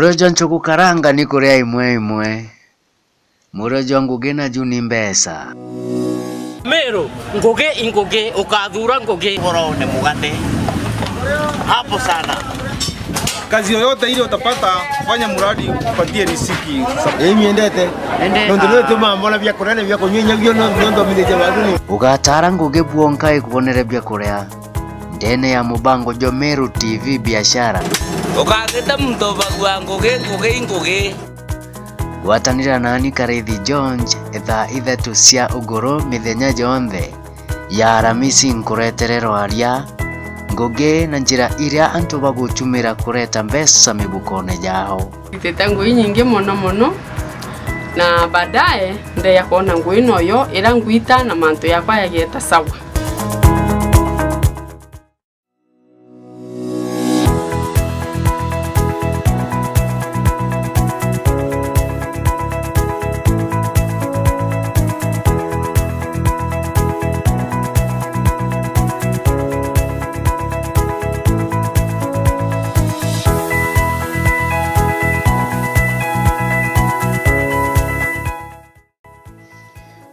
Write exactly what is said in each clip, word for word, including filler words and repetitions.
Murio jwa nchugu karanga ni kuria imwe imwe. Murio jwa ngugi naju ni mbeca. Meru, ngugi i ngugi, ukathura ngugi. Ugoro ni mugate. Hapo sana. Kazi yoyote ile utapata, fanya mradi upatie riziki. Ii miendete. Endete. Nontu nitumaa mbona bia kuria na bia kunywa inya bio no, nontu mithitie watu ni. Ugatara ngugi bwonka ikubonere bia kuria. Ndene ya mubango jwa Meru T V Biashara. Ukathite muntu ubagua ngugi, ngugi, ngugi. Gwatanira nani Karithi George thaa ithatu cia ugoro mithenya yonthe ya Aramisi nkuretere rwaria, ngugi na njira iria antu bagutumira kureta mbeca mibukone yao. Nditite ngui nyingi mono mono, na baadaye ndeya kwona ngui noyo ira ngwita na mantu yakwa yagieta sawa.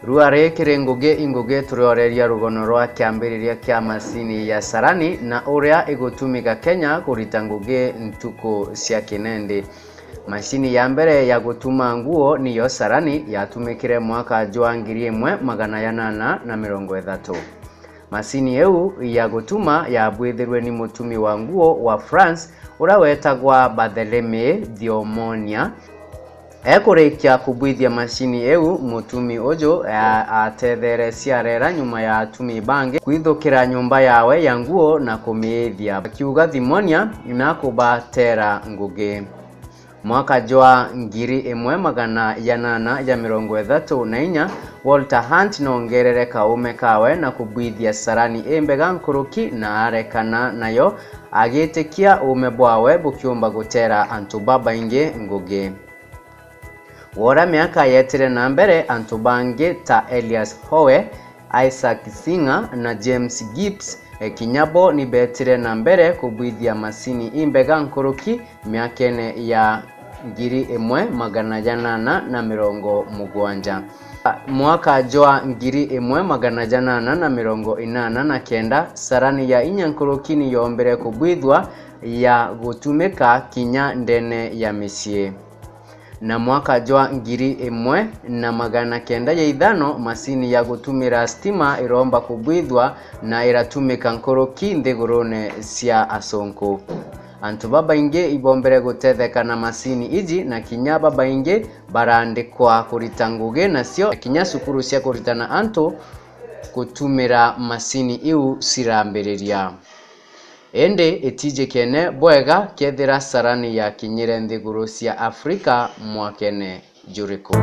Ruari kiri ngugi ingugi turioreria rugono rwa kiambiriria kia masini ya sarani na uria igutumika Kenya kurita ngugi ntuku cia kinendi. Masini ya mbere ya gutuma nguo niyo sarani yatumikire mwaka jwa ngiri imwe magana janana na mirongo ithatu. Masini iu ya gutuma yabwithirwe ni mutumi wa nguo wa France uria wetagwa Barthélemy Thiomonia. Ekurikia kubwithia masini iu, mutumi uju a-, atetherecia arera nyuma ya atumi bangi kwithukira nyumba yawe ya nguo na kumiithia, akiuga Thimonia nakubatera ngugi. Mwaka jwa ngiri imwe magana janana ja mirongo ithatu na inya, Walter Hunt noongerere kaume kawe na kubwithia sarani imbega nkuruki na arekana nayo, agitikia uume bwawe bukiumba gutera antu babaingi ngugi. Wora miaka yetire na mbere, antu bangi ta Elias Howe, Isaac Singer na James Gibbs, e, kinya bo ni beetire na mbere kubwithia masini imbega nkuruki miakene ya ngiri imwe magana janana na mirongo mugwanja. Mwaka jwa ngiri imwe magana janana na mirongo inana na kenda, sarani ya inya nkuruki ni yoombire kubwithua ya gutumika kinya ndene ya micii. Na mwaka jwa ngiri imwe na magana kenda ya ithano, masini ya gutumira stima iromba kubwithua na iratumika nkuruki nthigurune cia asunku. Antu babaingi ibombere gutetheka na masini iji, na kinya babaingi barandikwa kurita ngugi nacio, na kinya cukuru cia kuritana antu gutumira masini iu cirambiriria. Indi itijikene bwega kethira sarani yakinyire nthiguru cia Afrika mwakene juriku.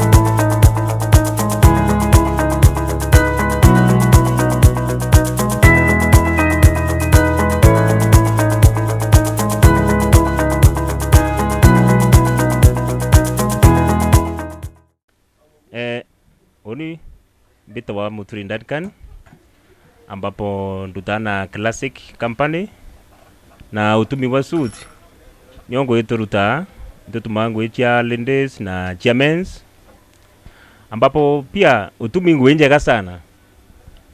Eh, uni mbitagwa Muturi Duncan, ambapo ndutaa na Classic Company, na utumi bwa suit nio ngui turutaa, nitutumaa ngui cia ladies na cia men's, ambapo pia utumi ngui njega sana,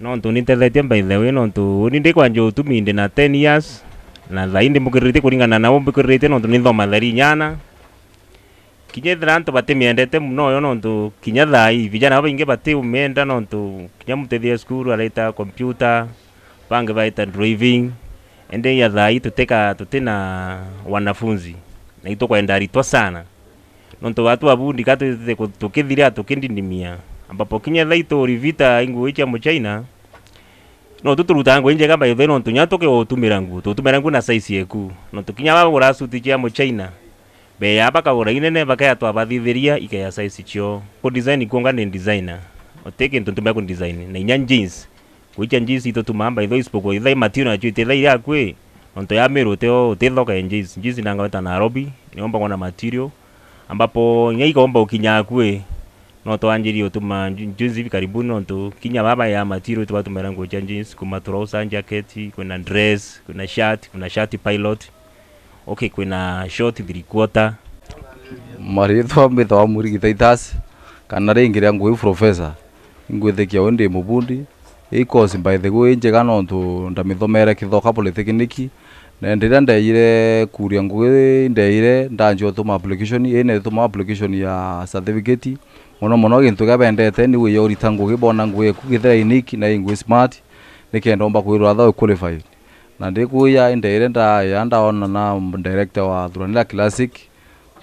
nontu nintethetie by the way, nontu uni ndikwanjia utumi ndi na ten years, na thaii ndimbukiriritie kuringana na umbukiriritie, nontu ninthoma thari inyana. Kinya ethira antu batimiendete mono yo, nontu kinya thaai vijana babaingi batiumienda, nontu kinya mutethia cukuru areta computer, bangi baita driving, indi ya thaai tutika, tutina wanafunzi, na itukwenda aritwa sana, nontu watu wa bundi ka twithite ku-, tukithira tukindindimia, ambapo kinya thaai turivita inguo icia muchaina, no tuturutaa nguo injega by the way, nontu kinya tukiutumira nguo, tutumira nguo na size yeku, nontu kinya bagura suti cia muchaina, beya bakagura inene, bakeya twabathithiria ikeya size cio. Ku design kuonga ni designer. Uti kintu ntumira ku design. Na inya jeans. Kuicha jeans itutumaa by the way, isipokuwa ithai material nacio iti ithai yakwi. Nontu ya miru utio utithoka ya jeans. Jeans nanga weta Nairobi, niomba kuona material. Ambapo inya ikaomba ukinya akwi. No twanjirie utuma ju-, jeans hivi karibuni, nontu kinya baba ya material tubatumira nguo cia jeans, kuma trouser, jacket, kwina dress, kwina shirt, kwina shirt pilot. Okay, kwina short three quarter. Maritwa mbitagwa Murigi Titus, kana ringi ria ngugi Professor. Ingwitikia uu ndi mubundi. Ii course by the way injega nontu ndamithomere Kithoka Polytechnic, na riria ndeejire kuuria ngugi, ndeejire ndanjia utuma application, ii neetuma application ya certificate. Mono mono gintu kiria bendete ni wiya urita ngugi, boona ngugi eku kethira i unique na i ngugi smart, nikenda umba kwirwa tha u qualified. Na ndikuuja, indeejire ndaeja ndaona na director wa Thuranira Classic,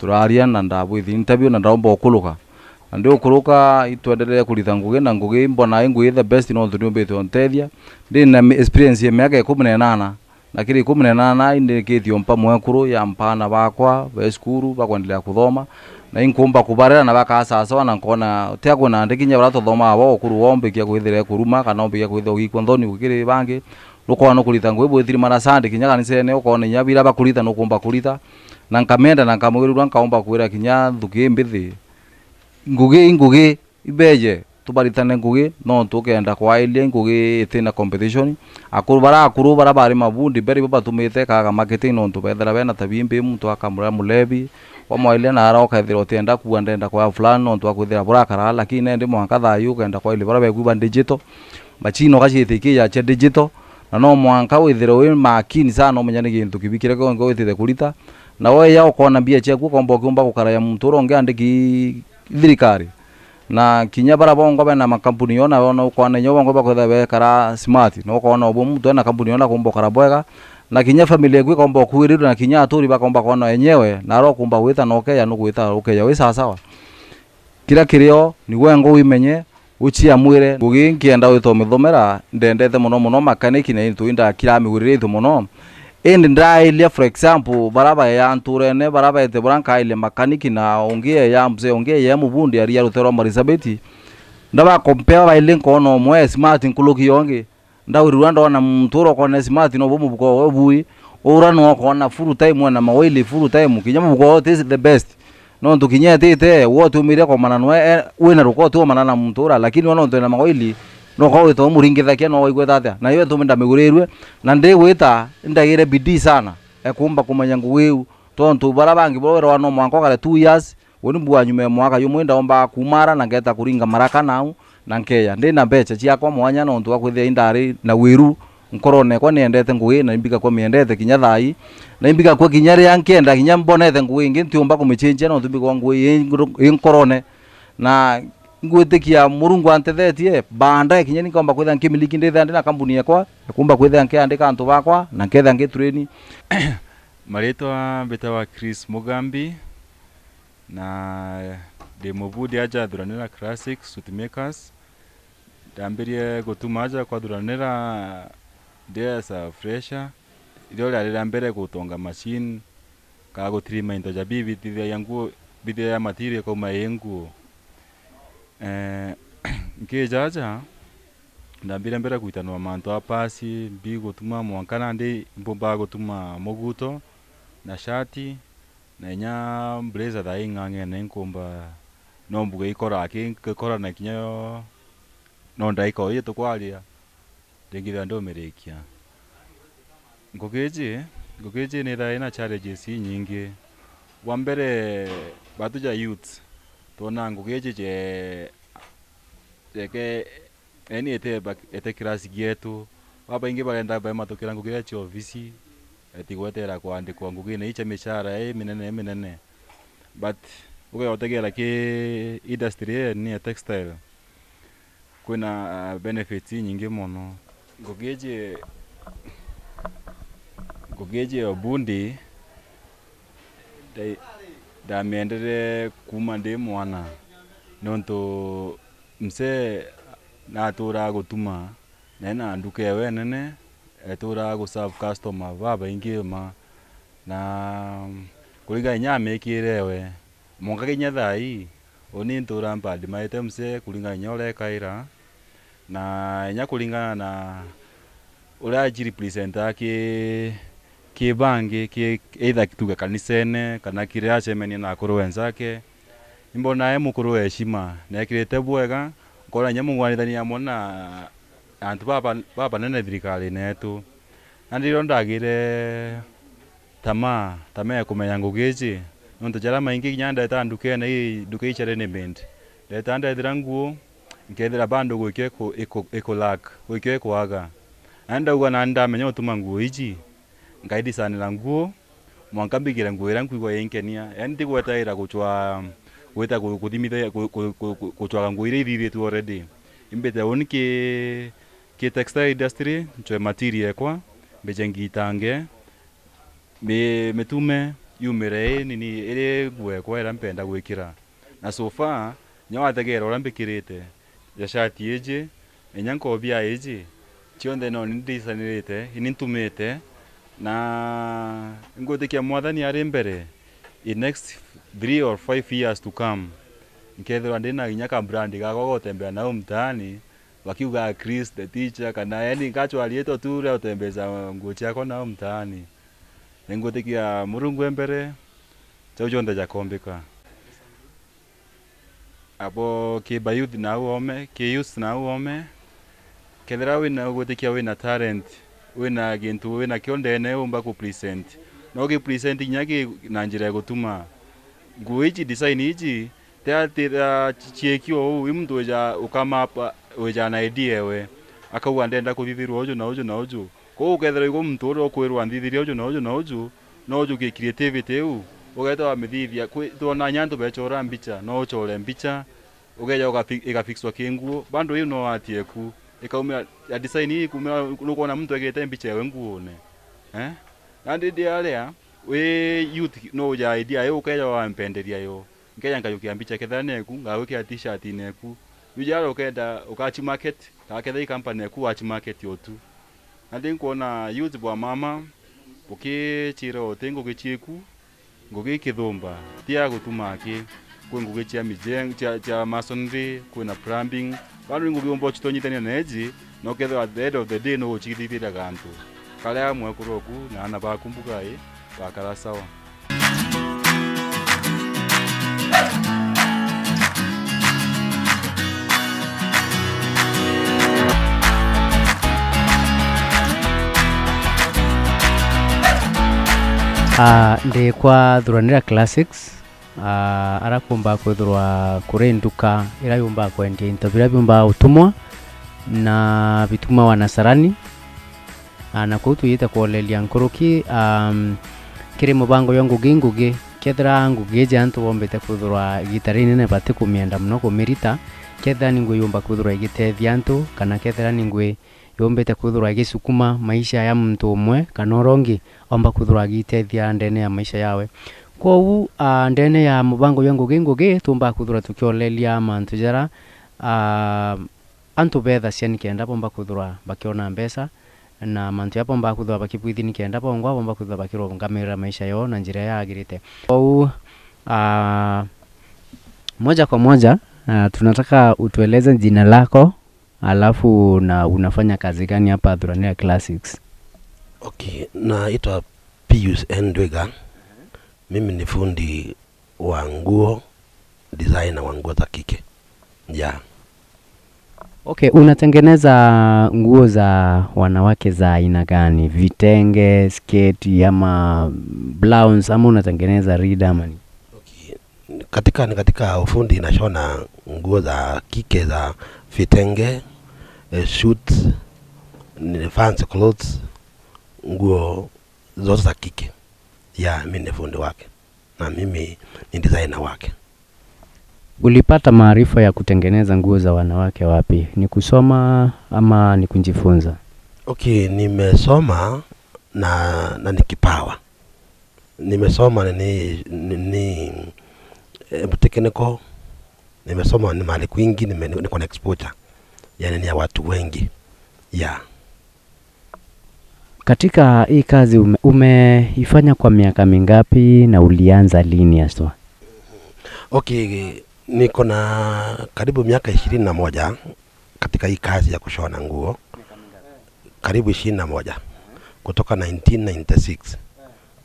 turaaria na ndabwithi interview na ndaumba ukuruka. Na ndi ukuruka, itwenderee kurita ngugi, na ngugi mbona i ngugi the best nontu niumbite untethia. Ndi na mi-, experience ya miaka ikumi na inana, na kiri ikumi na inana indikitie umpa mwekuru ya mpana bakwa be cukuru bakwendelea kuthoma, na inkumba kubarera na bakaa sawasawa, na nkona tia kwina ndi kinya baria tuthomaa bo ukuru wombikia kwithira kuruma kana ombikia kwithira ugikua nthoni gukiri bangi. Nukoona nukurita ngugi bwithirimana Sunday kinya kanisene, ukoona inya bira bakurita nukumba kurita, na nkamenda na nkamwirua nkaumba kwira kinya nthuki mbithi. Ngugi i ngugi, ibeje tubaritane ngugi, nontu ukenda kwailia ngugi itina competition. Akuru bara akuru bara bari mabundi mbere ibo batumite kaaga marketing, nontu bethira bena tabia imbi, muntu akamura mulevi, wamwailia na ara ukethira utienda kuua, ndenda kwaya fulani nontu akwithira burakara, lakini nendi mwanka thayu ukenda kwailia bara beku ba digital. Machine ugaciita ikiija cia digital, na no mwanka withire wi makini sana, umenya ni gintu kibi kiria kionke witite kurita, na weya ukoona mbia ciaku ukomba ukiumba gukaraya muntu uria ungi andiki thirikari. Na kinya bara bongwa bena makampuni yona, yona ukoona inya bongwa bakwithira bekara smart, na ukoona ubu muntu ena kampuni yona kumba ukara bwega, na kinya family yaku ikomba ukuirirwa, na kinya aturi bakomba koona enyewe, na ara ukumba gwita na ukeya, nugwita ukeya wi sawasawa. Kiria kirio ni gwe ngo wimenye, uciamwire. Ngugi nkienda wita umithomera, ndendete mono mono makaniki, na into indakiramiguriritie mono. Indi ndailia, for example, bara baea nturene, bara baete bura nkailia makaniki, na ungi eya mzee, ungi eya mubundi aria rutere rwa Marisabeti. Ndabakompea baili nkoona umwe e smart nkuruki ya ungi. Ndaurirua ndona muntu uria ukoona e smart, nobu mubuko we bui. Ura no ukoona full time ena mawaili full time. Kinya mubuko we uti the best. Nontu kinya etite, we utiumire komana nwe, e, wina ruko utiumana na muntu ura, lakini we nontu ena mawaili, no kwa wita umuringithakia, no waigweta atia? Na yo itumi ndamigurirue, na ndigwita ndagire bidii sana, ekumba kumenya ngugi iu. Tontu bara bangi bo wirawa no mwanka ukare two years, uni mbua nyuma ya mwaka jumwe ndaumba kumara na ngeta kuringa maraka nau, na nkeya. Ndina mbeca ciakwa mwanya nontu wa kwithira indari na wiru nkorone ekwa, niendete ngugi na imbigakwa miendete kinya thaa ii, na imbigakwa kinya riria nkenda kinya mbonete ngugi ingi ntiumba kumichenjia nontu mbigwa ngugi i nguru-, i nkorone. Na ngwitikia Murungu antethetie, baadaye kinya ni nkomba kwithira nkimiliki ndithira ndina kambuni ekwa, nkumba kwithira nkiandika antu bakwa, na nkethira ngitrain. Maritwa mbitawa Chris Mugambi, na ndi mubundi aja Thuranira Classic Suit Makers. Ndambirie gutuma aja kwa Thuranira ndi as a fresher. Irio riari ria mbere gutonga machine, ka gutirima into ja bibitithagia nguo, bitithagia material ikauma i nguo. Eh, nkija aja, ndambire mbere gwitanwa mantu a pasi, mbigutuma mwanka nandi mbumbaga gutuma muguto na shati, na inya blazer thaa ing'ang'ene nkumba, no mbuge ikora, aki-, ikora na kinya yo, no ndaika o iji tukwaria, ndingithira ndumirikia. Ngugi iji, ngugi iji nithaira ina challenges inyingi. Bwa mbere, batu ja youths, twona ngugi iji je, jeke, yani ete ba-, ete kirasi gietu. Babaingi barenda bematukira ngugi iria cia ofisi, eti gwetera kwandikwa ngugine ii cia micara iminene, iminene. But ugeotegera ki industry ii ni ya textile, kwina benefits inyingi mono. Ngugi iji, ngugi iji ya ubundi, nda-, ndamiendere kuuma ndi mwana, nontu mzee natuuraga gutuma, na ena nduka ewe nene, etuuraga guserve customer babaingi ma, na kuringana inya amikire ewe, mwanka kinya thaa ii, uni ntuura mpadimaite mzee kuringana inya uria ekaira, na inya kuringana na uria ajirepresentaga ki, ki bangi, ki, either tuge kanisene, kana kiria acemania na akuru wenzake. Imbona e mukuru wa heshima, na ekirite bwega, nkona inya mung'wanithania amwe na antu baba, babanene thirikarine yetu. Nandi rio ndagire tamaa, tamaa ya kumenya ngugi iji, Nontu jaria maingi kinya ndetaa ndukene ii, nduka ii cia readymade. Ndetaa ndethira nguo, nkethira bado gwikio iku-, iku-, ikulack, gwikio ikwaga. Na ndauga na ndamenya utuma nguo iji, nkaidisanira nguo, mwanka mbigire nguo iria nkwigua inkenia. Yaani ntigwetaira gucwa, gwita ku-, kuthimitha, ku-, ku-, ku-, ku-, gucwaga nguo iria ithithitue already. Imbite uni ki, ki textile industry, ncwe material ekwa, mbije ngitange, mi-, mitume yumire ii nini, iri nguo ekwa iria mpenda gwikira. Na so far, kinya wategera uria mbikirite, ja shati iji, inya nkobia iji, cionthe no ni ndisanirite, ini ntumite, na ngwitikia Mwathani ari mbere, in next three or five years to come, nkethirwa ndina kinya ka brand gakwa gutembea nau mtaani, bakiuga Chris the teacher, kana yani nkacwa riitwa tu ria gutembeza nguo ciakwa nau mtaani. Ningwitikia Murungu e mbere, jau jonthe jakombika. Abo ki ba youth nau oome, ki youth nau oome, kethira wina gwitikia wina talent, wina gintu wina kio ndene umba ku present, no gi present kinya ki na njira ya gutuma. Nguo iji, design iji, ti ati ra ci-, ciikio uu, i muntu wija ukamapa, wija na idea ewe, akauga ndenda kuthithirwa uju na uju na uju. Kwou ukethirwa igwe muntu uria ukwirwa nthithiria uju na uju na uju, no uju ki creativity iu, ugeeta wamithithia. Kwi, twona inya antu bechora mbicha, no uchore mbicha, ugeja ugafi-, igafixwa ki nguo, bado iu no art eku, ikaumira ya design ii ikumira, nukwona muntu egite mbicha ewe nguone. Eh? Nandi ndi aria, wi youth no uja idea iu, ukeja wampenderia yo. Nkeja nkajukia mbicha kethira neku, ngagwikira t-shirt neku. Riu jara ukenda, ukachi market, kana kethira i company neku wachi market o tu. Nandi nkwona youth bwa mama, bukichira uti ngugi chieku, ngugi ikithumba, ti ya gutuma aki. Kwi ngugi cia mijeng-, cia, cia masonry, kwina plumbing. Bado ni ngugi umba uchitonyithania na iji, na ukethirwa at the end of the day no uchiithithiria gantu. Kare amwe kuri oku na aana baku mbuga ii, bakara sawa. Ah, ndi kwa Thuranira Classics, ah, ara kuumba kwithirwa kuri nduka ira yuumba kwendia into biria biumba utumwa na bitumawa na carani. Ah, na kuu tujite kwoleria nkuruki, um, kiri mubango jwa ngugi ngugi, kethira ngugi iji antu bombite kwithirwa igita rinene batikumienda mono kumirita, kethira ni ngugi yumba kwithirwa igitethia antu, kana kethira ni ngugi yumbite kwithirwa igisukuma maisha ya muntu umwe kana uria ungi, omba kwithirwa agitethia ndene ya maisha yawe. Kwou, ah, ndene ya mubango jwa ngugi ngugi, tuumba kwithirwa tukioleria mantu jara, ah, antu beethacia nikenda bomba kwithirwa bakiona mbeca, na mantu jaria bomba kwithirwa bakibwithia nikenda bongwa bomba kwithirwa bakirungamirira maisha yoo na njira iria yagirite. Kwou, ah, moja kwa moja, ah, tunataka utueleze jina lako, alafu na unafanya kazi gani hapa Thuranira Classics? Okay, naitwa Pius N Ndwiga. Mimi ni fundi wa nguo, designer wa nguo za kike. Yeah. Okay, unatengeneza nguo za wanawake za aina gani? Vitenge, sketi ama blouse, ama unatengeneza rida ama ni? Okay. Katika, ni katika ufundi nashona nguo za kike za vitenge, eh, suits, ni fancy clothes, nguo zote za kike. Yeah, mi ni fundi wake. Na mimi ni designer wake. Ulipata maarifa ya kutengeneza nguo za wanawake wapi? Ni kusoma ama ni kujifunza? Okay, nimesoma na, na ni kipawa. Nimesoma ni, ni, ni, eh, technical. Nimesoma ni mahali kwingi, nime-, niko na exposure. Yani ni ya watu wengi. Yeah. Katika hii kazi ume-, umeifanya kwa miaka mingapi na ulianza lini haswa? Okay, niko na karibu miaka ishirini na moja katika hii kazi ya kushona nguo. Karibu ishirini na moja. Kutoka nineteen ninety-six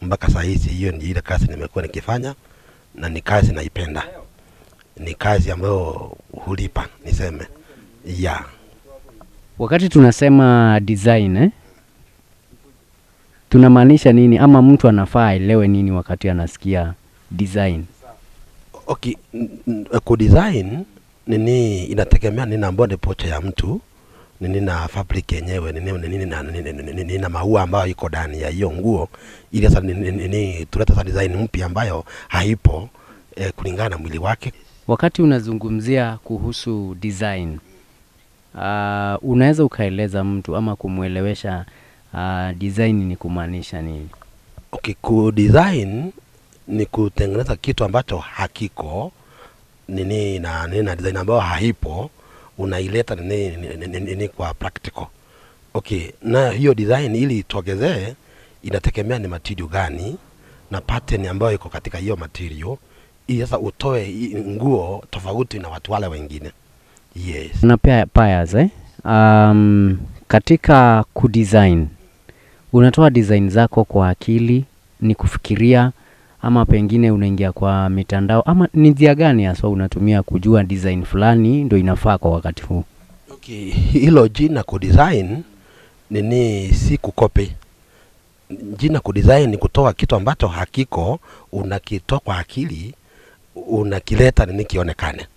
mpaka saa hizi, hiyo ndio ile kazi nimekuwa nikifanya, na ni kazi naipenda. Ni kazi ambayo hulipa, niseme. Yeah. Wakati tunasema design, eh, tunamaanisha nini? Ama mtu anafaa aelewe nini wakati anasikia design? Okay, n- n- ku design nini inategemea nina body posture ya mtu, nini na fabric yenyewe, nini, nini na, nini, nini, nini na maua ambayo iko ndani ya hiyo nguo, ili sasa nini, nini tulete sasa design mpya ambayo haipo eh, kulingana na mwili wake. Wakati unazungumzia kuhusu design, uh, unaweza ukaeleza mtu ama kumwelewesha uh, design ni kumaanisha nini? Okay, ku design ni kutengeneza kitu ambacho hakiko nini na nini na design ambayo haipo, unaileta nini, nini, nini, nini kwa practical. Okay, na hiyo design ili itogezee inategemea ni material gani na pattern ambayo iko katika hiyo material, ili sasa utoe i- nguo tofauti na watu wale wengine. Yes. Na pia pairs, eh? Um, katika kudesign, unatoa design zako kwa akili, ni kufikiria, ama pengine unaingia kwa mitandao, ama ni njia gani haswa unatumia kujua design fulani ndo inafaa kwa wakati huu? Okay, hilo jina ku design nini si kukopi. Jina ku design ni kutoa kitu ambacho hakiko, unakitoa kwa akili, unakileta nini kionekane.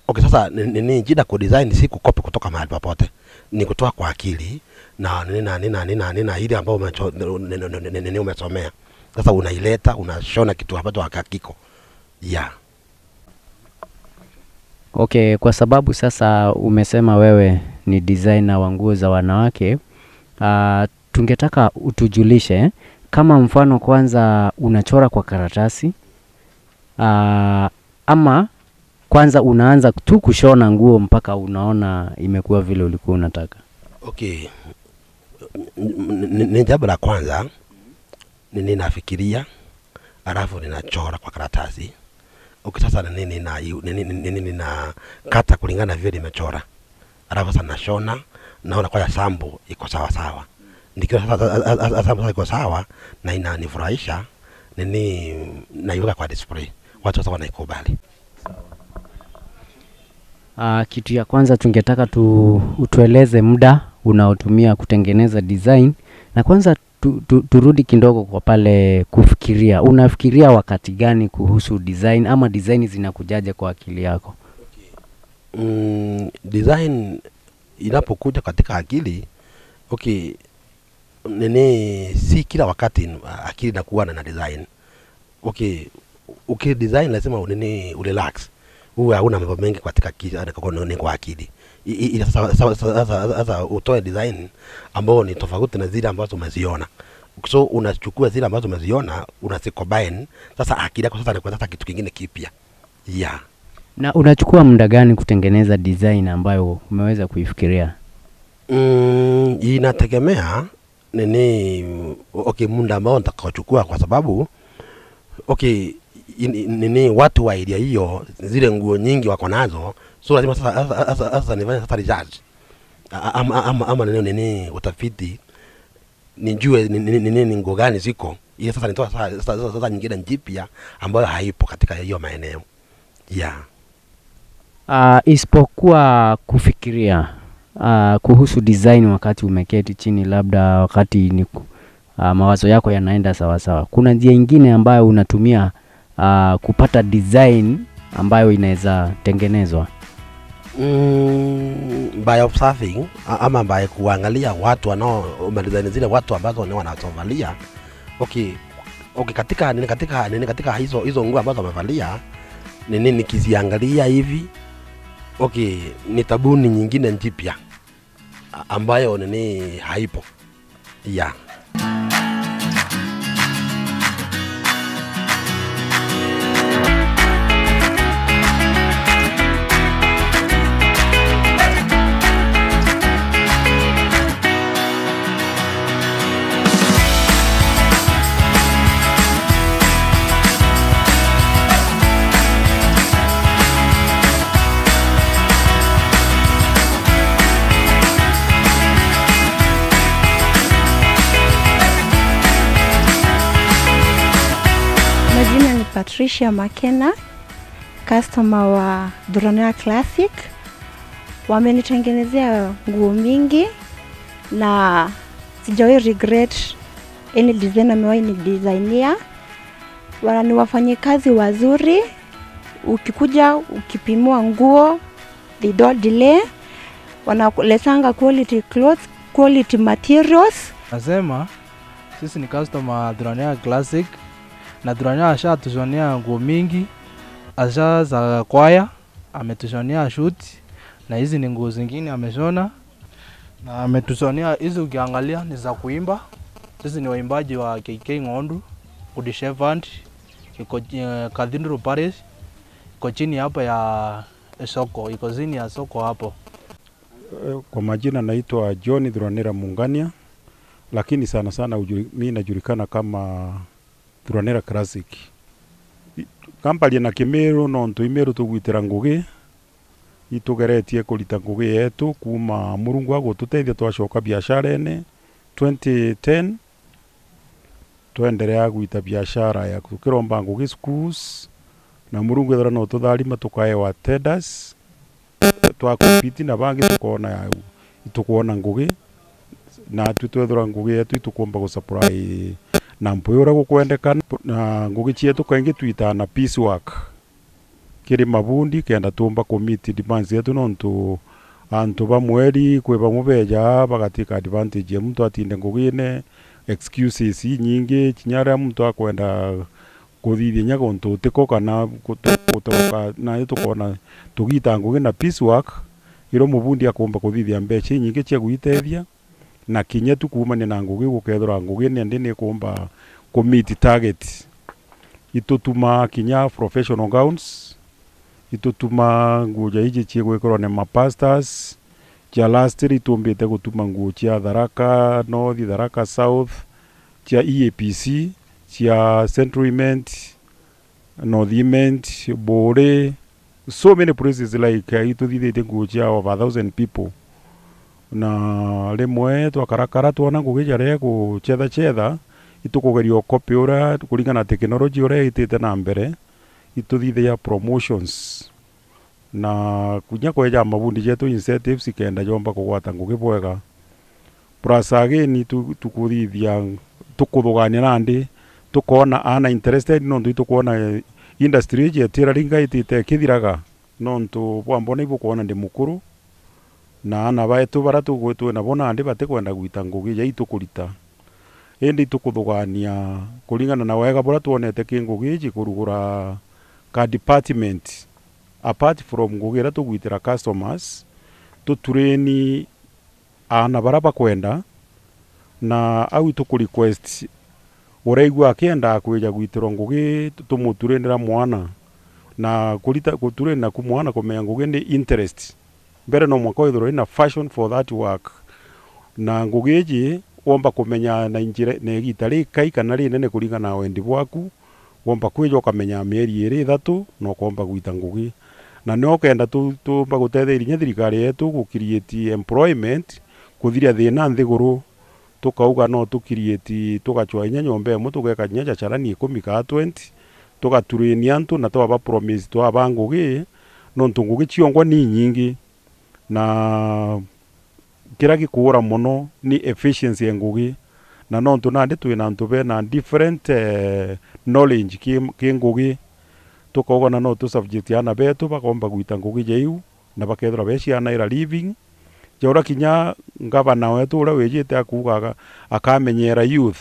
Okay, sasa ni- ni- ni jina ku design si kukopi kutoka mahali popote, ni kutoa kwa akili na nini na nini na nini na nini na ile ambayo umecho- ni- ni- ni- ni- ni- ni umesomea. Sasa unaileta, unashona kitu ambacho hakiko. Yeah. Okay, kwa sababu sasa umesema wewe ni designer wa nguo za wanawake, uh, tungetaka utujulishe kama mfano kwanza unachora kwa karatasi, uh, ama kwanza unaanza tu kushona nguo mpaka unaona imekuwa vile ulikuwa unataka? Okay. N- n- n- ni jambo la kwanza ni ninafikiria, alafu ninachora kwa karatasi. Okay, sasa ni nini na ni nini nina kata kulingana na vile nimechora, alafu sasa nashona, naona kwa sample iko sawa sawa. Nikiona sasa sasa- sasa- sasa sample iko sawa na inanifurahisha, nini naiweka kwa display, watu sasa wanaikubali. Uh, kitu ya kwanza tungetaka tu utueleze muda unaotumia kutengeneza design, na kwanza tu, tu, turudi kidogo kwa pale kufikiria. Unafikiria wakati gani kuhusu design, ama design zinakujaje kwa akili yako? Mm, design inapokuja katika akili, okay, nini, si kila wakati akili inakuwa na design. Okay, ukidesign lazima nini, urelax, uwe hauna mambo mengi katika ki- ni kwa akili. I- i- i- sasa- sasa- sasa- sasa- sasa utoe design ambao ni tofauti na zile ambazo umeziona, so unachukua zile ambazo umeziona, unazicombine. Sasa akili yako sasa inakuwa sasa kitu kingine kipya. Yeah. Na unachukua muda gani kutengeneza design ambayo umeweza kuifikiria? Mm, inategemea nini, okay, muda ambao nitakaochukua, kwa sababu okay, in- in- nini, watu wa area hiyo zile nguo nyingi wako nazo, so lazima sasa sasa- sasa- sasa nifanye sasa research. A- ama ama ama nini, nini, utafiti, nijue ni- ni- ni- ni- ni nguo gani ziko, ile sasa nitoa sasa, sasa, sasa, sasa nyingine njipya ambayo haipo katika hiyo maeneo. Yeah. Uh, isipokuwa kufikiria uh, kuhusu design wakati umeketi chini, labda wakati ni ku- uh, mawazo yako yanaenda sawasawa, kuna njia ingine ambayo unatumia uh, kupata design ambayo inaweza tengenezwa? Mm, by observing a- ama by kuangalia watu wanao design zile watu ambazo ni wanazovalia. Okay, okay, katika nini, katika nini, katika hizo hizo nguo ambazo wamevalia, nini, nikiziangalia hivi, okay, ni tabuni nyingine njipya a- ambayo nini haipo. Yeah. Majina ni Patricia Makena, customer wa Duranea Classic. Wamenitengenezea nguo mingi na sijawahi regret any design amewahi ni designia. Wana ni wafanyikazi wazuri, ukikuja ukipimiwa nguo, they don't delay, wanakuletanga quality clothes, quality materials. Nasema, sisi ni customer Thuranira Classic, na Thuranira ashatushonea nguo mingi, asha za kwaya, ametushonea suit, na hizi ni nguo zingine ameshona, na ametushonea hizi, ukiangalia ni za kuimba. Sisi ni waimbaji wa K K Ng'ondu, Good Shepherd, iko, eh, Cathedral Parish, iko chini hapo ya soko, iko chini ya soko hapo. Eh, kwa majina naitwa John Thuranira Mungania, lakini sana sana ujuri-, mi najulikana kama Thuranira Classic. I-, kamparie na Kimiru, nontu Imiru tugwitira ngugi, itugeretie kurita ngugi yetu kuuma Murungu agututethia twacoka biasharene twenty ten, twenderea gwita biashara ya tukiromba ngugi schools, na Murungu ethira no tutharima tukaewa tenders, twa compete na bangi tukoona ya, itukwona ngugi, natwi twethirwa ngugi yetu itukumba gusupply na mpwi uria gukwendekana, na ngugi cietu kaingi twitaa na piece work kiri mabundi, kenda tuumba ku meet demands yetu, nontu antu ba mweri kwi bamwe beja bagatwika advantage ya muntu atinde ngugine, excuses inyingi, kinya riria muntu akwenda kuthithia inya guntu utiko kana gutu-, gutoroka, na tukoona tugita ngugi na piece work, irio mubundi akumba kuthithia mbeca inyingi cia gwitethia. Na kinya tu kuumania na ngugi iu, gukethirwa ngugi nandi nikumba ku meet target. Itutuma kinya professional gowns, itutuma nguo ja iji ciigwikirwa ni mapastors, cia last year itumbite gutuma nguo cia Tharaka North, Tharaka South, cia E A P C, cia Central Imenti, North Imenti, Buuri, so many places like, eh, ituthithitie nguo cia over a thousand people. Na rimwe twakarakara twona ngugi jaria gucethacetha, itukugeria ukopi uria kuringana na technology uria itite na mbere, ituthithagia promotions. Na kinya kweja mabundi jetu incentives ikenda jomba kugwata ngugi bwega. Plus again, tu-, tukuthithia, tukuthugania nandi, tukoona aana interested, nontu itukwona, eh, industry iji etira ringa itite ikithiraga, nontu bwa mbona ibukwona ndi mukuru, na aana baetu baria tugwi-, twi nabo nandi batikwenda gwita ngugi ja itukurita. Indi itukuthugania kuringana na wega buria twonete ki ngugi iji kurugura ka department, apart from ngugi iria tugwitira customers, tutureni aana baria bakwenda, na au ituku request, uraigua akiendaa kwija gwitirwa ngugi, tu-, tumuturinira mwana, na kurita, guturina ku mwana kumenya ngugi ni interest. Mbere no mwanka withirwe wina passion for that work, na ngugi iji womba kumenya na njira, na igita rikai kana rinene kuringana na wendi bwaku, womba kwija ukamenya mieri iri ithatu, na ukomba gwita ngugi. Na nio ukenda tu-, tuumba gutetheria inya thirikari yetu gu create employment, kuthiria thina nthiguru, tukauga no tu create, tugacwa inya nyomba imwe, tugeka inya ja carani ikumi kaa twenty, tugaturania antu na twaba promise twaba ngugi, nontu ngugi ciongwa ni inyingi, na kiria gikuura mono ni efficiency ya ngugi, na nontu nandi twina antu bena different, eh, knowledge ki, ki ngugi, tukauga na no tu subject aana betu bakomba gwita ngugi ja iu, na bakethirwa becianaira living, ja uria kinya ngavana wetu uria wijite akuuga aga-, akamenyera youth,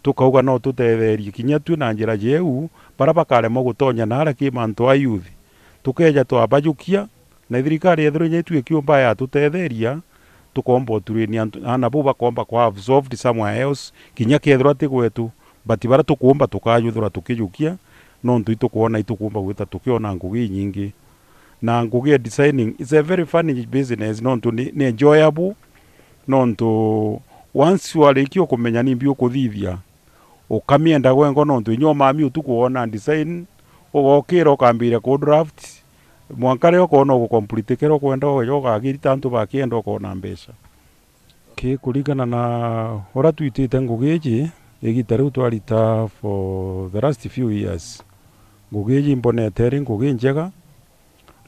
tukauga no tutetherie kinya tui na njira jeu, baria bakaremwa gutonya naria ki mantu a youth, tukeja twabajukia, na thirikari yethirwa inya itu ikiumba yatutetheria, tukomba uturania antu, aana bau bakomba kwa absorbed somewhere else, kinya kethirwa ti gwetu, but baria tukumba tukajwithirwa tukijukia, nontu itukwona itukumba gwita tukiona ngugi inyingi. Na ngugi ya designing is a very funny business, nontu ni, ni enjoyable, nontu once warikia ukumenya nimbi ukuthithia, ukamienda gwengo, nontu inya umami utuku wona design, ugokira ukambiria ku draft, mwanka riria ukona ugukomplete kiria ukwenda, ugeja ukagirita antu bakienda ukona mbeca. Ki kuringana na uria twitite ngugi iji, igita riu twarita for the last few years, ngugi iji imbonete iri ngugi njega,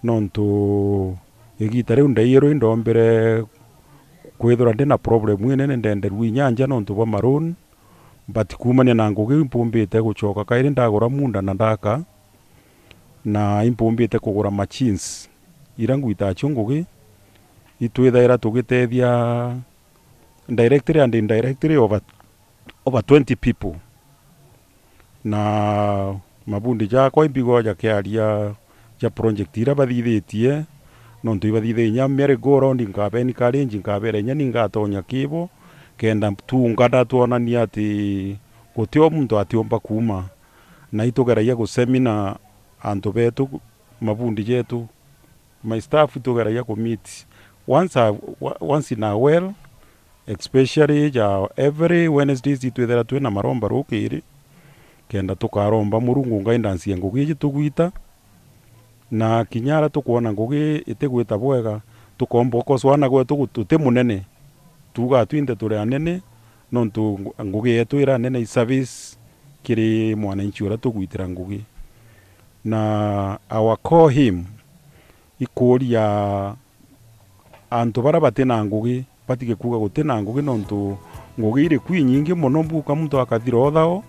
nontu igita riu ndaiyirwe indombire kwithirwa ndina problem inene, ndenderua inya nja nontu bwa maroon, But kuumania na ngugi impumbite gucoka kairi ndagura munda na ndaka, na impumbite kugura machines ira ngwitacio ngugi, itwithaira tugitethia directly and indirectly over, over twenty people. Na mabundi jakwa imbigwa jakiaria ja project ira bathithitie, nontu ibathithirie inya merry go round, nkabeni encourage, nkabera inya ni ngatonya kibo, kenda tuungana twonania ati guti o muntu atiumba kuuma. Na itugeragia gusemina antu betu, mabundi jetu, my staff, itugeragia ku meet once a, once in a while, especially ja every Wednesdays itwithira twina maromba rukiri, kenda tukaromba Murungu guidance ya ngugi iji tugwita, na kinya ara tukwona ngugi itigwita bwega, tukomba ukoswana gwetu gu-, tuti munene, tuuga twinthe turi anene, nontu ngu-, ngugi yetu ira nene i service kiri mwananchi uria tugwitira ngugi. Na our core aim ikuuria antu baria bati na ngugi batige kuuga guti na ngugi, nontu ngugi iri ku inyingi mono, mbuka muntu akathira uthao,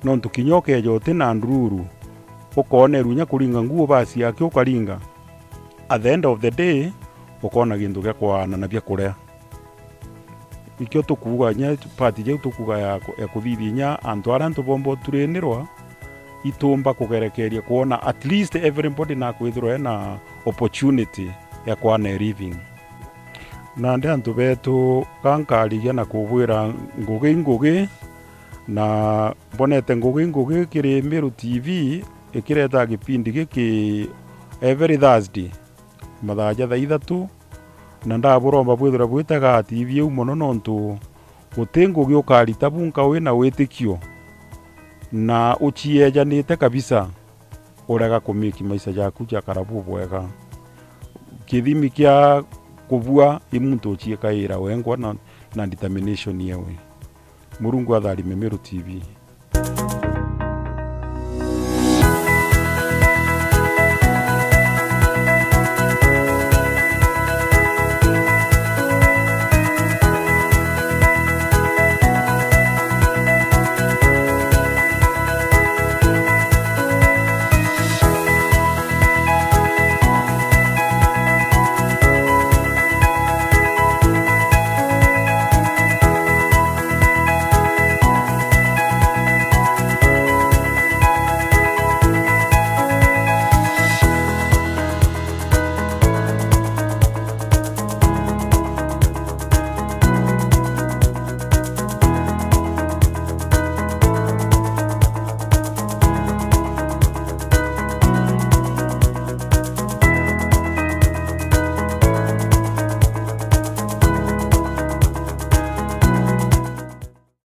nontu kinya ukeeja uti na ndururu, ukoonerua inya kuringa nguo basi yake ukaringa, at the end of the day, ukoona gintu gia kwaana na bia kuria. Ikio tukuuga inya part jau tukuuga ya ku-, ya kuthithia inya antu aria antu bomba uturinirwa, itumba kugerekeria kwona at least everybody nakwithirwa ena opportunity ya kwana a living. Nandi antu betu, ga nkarigia na kubwira ngugi i ngugi, na mbonete ngugi i ngugi kiri Meru T V ikireta gipindi giki every Thursday mathaa ja thaa ithatu, na ndaburomba bwithirwe bwitaga T V iu mono, nontu guti ngugi ukarita bunka wina witikio na uciejanite kabisa, urega kumake maisha jaku jakara bubwega. Kithimi kia kubua i muntu uciikaira wengwa na, na determination yewe. Murungu atharime Meru T V.